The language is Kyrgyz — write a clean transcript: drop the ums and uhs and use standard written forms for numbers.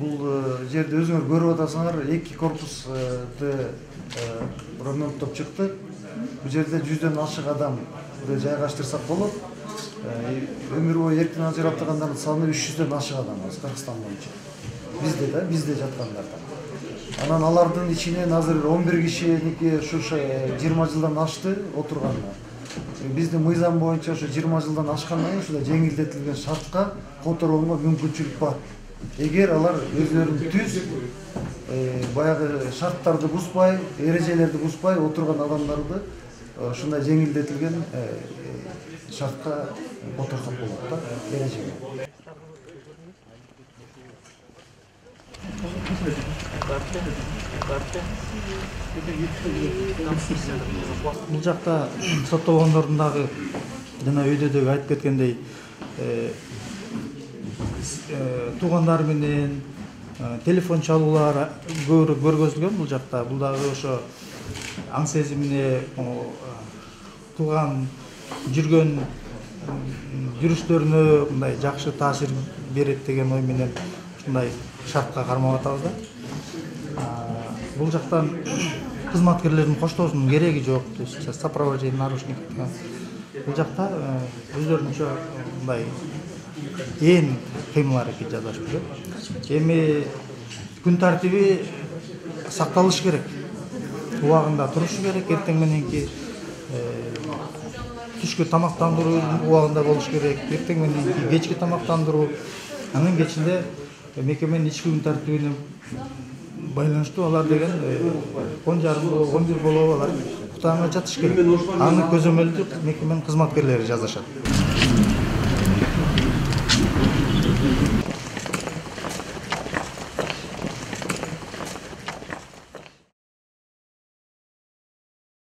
Бул жерде өзүңөр көрүп атасыңар, 2 корпусты ремонттоп чыкты. Бул жерде 100дөн ашык адамды жайгаштырсак болот. Өмүр бою эркин ажыратылгандардын саны 300дөн ашык адам Кыргызстан боюнча. Бизде жаткандардан. Анан алардын ичинен азыр 11 кишиники ушу 20 жылдан ашты отурганына. Биздин мыйзам боюнча ушу 20 жылдан ашкандан кийин ушундай жеңилдетилген шартка которууга мүмкүнчүлүк бар. Эгер алар өзлөрүн түз баягы шарттарды бузбай, эрежелерди бузбай отурган адамдарды ушундай жеңилдетилген шартка которсок болот да, эрежеге. Бул жакта соттолгондордун дагы жана өйдө дагы айтып кеткендей туугандары менен телефон чалуулар көбүрөөк көргөзүлгөн бул жакта. Бул дагы ошо аң сезимине тууган жүргөн жүрүштөрүнө мындай жакшы таасир берет деген ой менен ушундай шартка кармап атабыз да. Бул жактан кызматкерлердин коштоосунун кереги жок, то есть сопровождение нарушников. Бул жакта өздөрүнчө мындай ээн кыймыл аракет жасашып жүрөт. Эми күн тартиби сакталыш керек. Убагында турушу керек, эртең мененки түшкү тамактандыруу убагында болуш керек, эртең мененки кечки тамактандыруу. Анын кечинде мекеменин ички күн тартибине байланыштуу алар деген 10:30-11 болобу алар уктаганга жатыш керек. Аны көзөмөлдү мекеменин кызматкерлери жазышат.